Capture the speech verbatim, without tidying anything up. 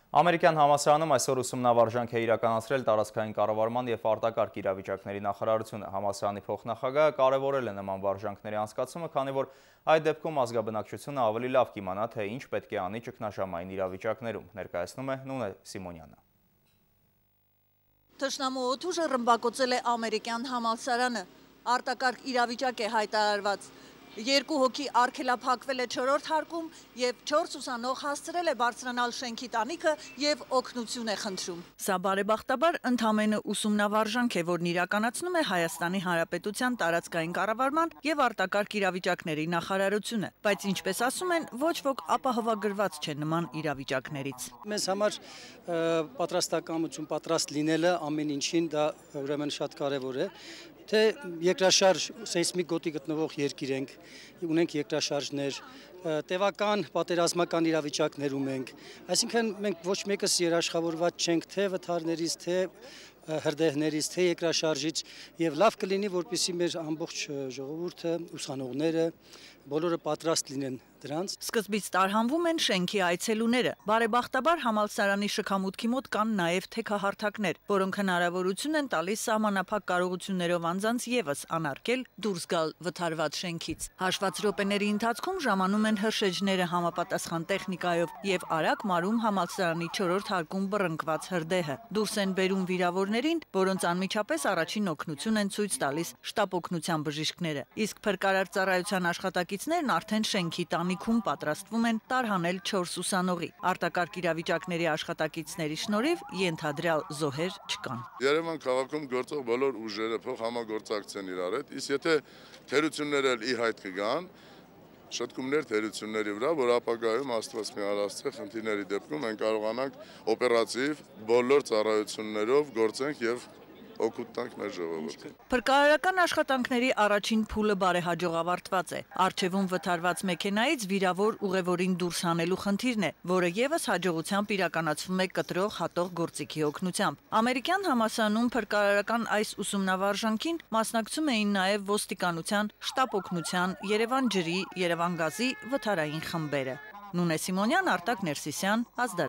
Ամերիկյան համալսարանում այսօր ուսումնավարժանք է իրականացրել տարածքային կառավարման և արտակարգ իրավիճակների նախարարությունը։ Համալսարանի փոխնախագահը կարևորել է նման վարժանքների անցկացումը, քանի որ այդ դեպքում ազգաբնակչությունը ավելի լավ կիմանա, թե ինչ պետք է անի ճգնաժամային իրավիճակներում, ներկայացնում է Նունե Սիմոնյանը։ Թշնամու օդուժը ռմբակոծել է ամերիկյան համալսարանը, արտակարգ իրավիճակ է հայտարարված։ Երկու հոգի արգելափակվել է չորրորդ հարկում և չորս ուսանող հասցրել է բարձրանալ շենքի տանիքը և օգնություն է խնդրում։ Սա բարեբախտաբար ընդամենը ուսումնավարժանք է, որն իրականացնում է Հայաստանի Հանրապետության տարածքային կառավարման և արտակարգ իրավիճակների նախարարությունը, բայց ինչպես ասում են, ոչ ոք ապահովագրված չէ նման իրավիճակներից։ Մեզ համար պատրաստակամություն, պատրաստ լինելը ամեն ինչին դա ուրեմն շատ կարևոր է, թե երկրաշարժ սեյսմիկ գոտի գտնվող երկիր ենք, ունենք երկրաշարժներ, տևական պատերազմական իրավիճակներում ենք, այսինքն մենք ոչ մեկս երաշխավորված չենք թե վթարներից, թե հրդեհներից, թե երկրաշարժից և լավ կլինի, որպեսզի մեր ամբողջ ժողովուրդը, ուսանողները, բոլորը պատրաստ լինեն դրանց։ Սկզբից տարհանվում են շենքի այցելուները։ Բարեբախտաբար համալսարանի շքամուտքի մոտ կան նաև թեքահարթակներ, որոնք հնարավորություն են տալիս սահմանափակ կարողություններով անձանց ևս անարգել դուրս գալ վթարված շենքից։ Հաշված րոպեների ընթացքում ժամանում են հրշեջները համապատասխան տեխնիկայով և արագ մարում համալսարանի չորրորդ հարկում բռնկված հրդեհը։ Դուրս են բերում վիրավորներին, որոնց անմիջապես առաջին օգնություն են ցույց տալիս շտապ օգնության բժիշկները։ Իսկ փրկարար ծառայության աշխատակիցներն արդեն շենքի տանիքում պատրաստվում են տարհանել չորս ուսանողի։ Արտակարգ իրավիճակների աշխատակիցների շնորհիվ ենթադրյալ զոհեր չկան։ Երևան քաղաքում գործող բոլոր ուժերը փոխհամագործակցեն իրար հետ, իսկ եթե թերությունները ի հայտ կգան, շտկումներ թերությունների վրա, որ ապագայում Աստված միալ Աստծո խնդիրների դեպքում մենք կարողանանք օպերատիվ բոլոր ծառայություններով գործենք եւ օգուտ տանք մեր ժողովրդին։ Փրկարարական աշխատանքների առաջին փուլը բարեհաջող ավարտված է։ Առջևում վթարված մեքենայից վիրավոր ուղևորին դուրս հանելու խնդիրն է, որը ևս հաջողությամբ իրականացվում է կտրող հատող գործիքի օգնությամբ։ Ամերիկյան համալսարանում փրկարարական այս ուսումնավարժանքին մասնակցում էին նաև ոստիկանության, շտապ օգնության, Երևան ջրի, Երևան գազի վթարային խմբերը։ Նունե Սիմոնյան, Արտակ Ներսիսյան, Ազդարակ։